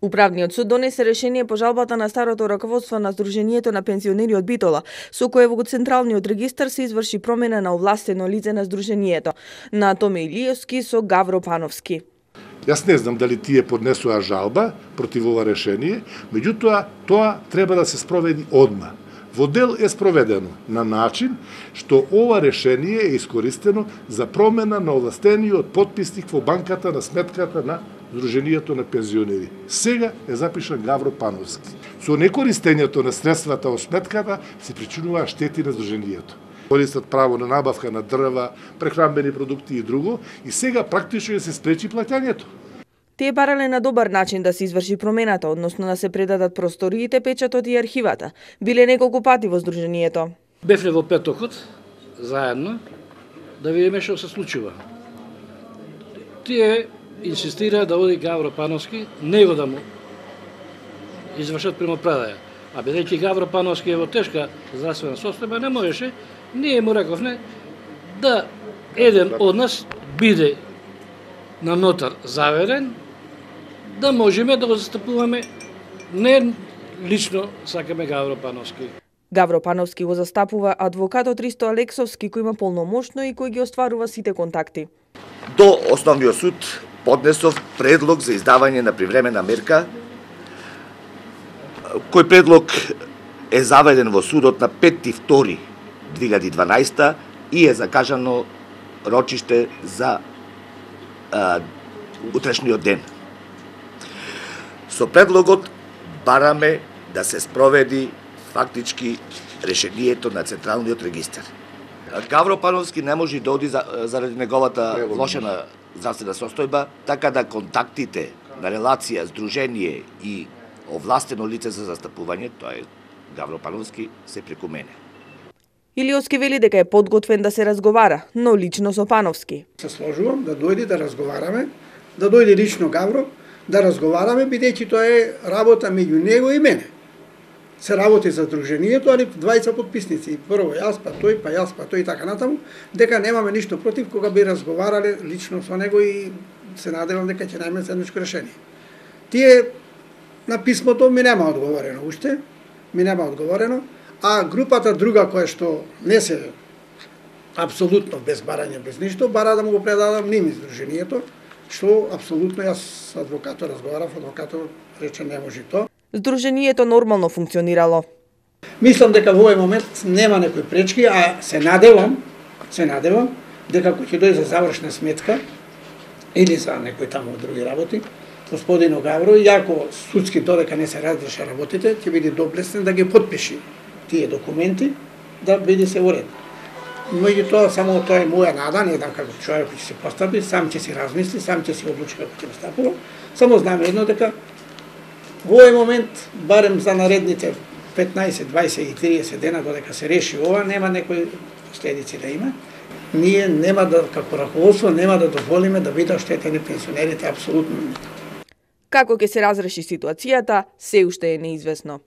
Управниот суд донесе решение по жалбата на старото раководство на Сдруженијето на пензионери од Битола, со кое во Централниот регистар се изврши промена на овластено лице на Сдруженијето, на Томе Илиевски со Гавро Пановски. Јас не знам дали тие поднесоа жалба против ова решение, меѓутоа тоа треба да се спроведи одма. Во дел е спроведено на начин што ова решение е искористено за промена на овластениот подписник во банката на сметката на Сдруженијето на пензионери. Сега е запишан Гавро Пановски. Со некористењето на средствата од сметката се причинуваа штети на Сдруженијето. Користат право на набавка на дрва, прехранбени продукти и друго, и сега практично се спречи плаќањето. Тие барале на добар начин да се изврши промената, односно да се предадат просториите, печатот и архивата. Биле неколку пати во Сдруженијето. Бевме во петокот, заедно, да видиме што се случува. Тие инсистира да оди Гавро Пановски, него да му извршат примопредаја. А бидејќи Гавро Пановски е во тешка здравствена состојба, не можеше, ние му рековме да еден од нас биде на нотар заверен, да можеме да го застапуваме, не лично сакаме Гавро Пановски. Гавро Пановски го застапува адвокатот Ристо Алексовски, кој има полномошно и кој ги остварува сите контакти. До Основниот суд поднесов предлог за издавање на привремена мерка, кој предлог е заведен во судот на 5.2.2012 и е закажано рочиште за утрешниот ден. Со предлогот бараме да се спроведи фактички решението на Централниот регистар. Гавро Пановски не може да оди заради неговата влошена здравствена состојба, така да контактите на релација, здружение и овластено лице за застапување, тоа е Гавро Пановски, се преку мене. Илиевски вели дека е подготвен да се разговара, но лично со Пановски. Се сложувам да дојде да разговараме, да дојде лично Гавро, да разговараме, бидејќи тоа е работа меѓу него и мене. Се работи за Сдруженијето, али двајца подписници. Прво јас, па тој и така натаму, дека немаме ништо против кога би разговарале лично со него и се надевам дека ќе најме заедничко решение. Тие на писмото ми нема одговорено уште, а групата друга која што не се апсолутно без барање, без ништо, бара да му го предадам ними Сдруженијето, што апсолутно јас адвокатот разговарав, адвокатот рече не може тоа. Сдруженијето нормално функционирало. Мислам дека во овој момент нема некои пречки, а се надевам дека кој ќе дојде за завршна сметка или за некои таму други работи, господино Гавро, иако судски додека не се разреша работите, ќе биде доблесен да ги потпиши тие документи, да биде се уред. Меѓутоа, само тоа е моја нада, не знам како човек ќе се постави, сам ќе си размисли, сам ќе си одлучи како ќе настапува. Само знам едно дека во овој момент, барем за наредните 15, 20 и 30 дена додека се реши ова, нема некои последици да има. Ние нема да, како раководство, нема да дозволиме да бидат оштетени пенсионерите апсолутно. Како ќе се разреши ситуацијата, се уште е неизвестно.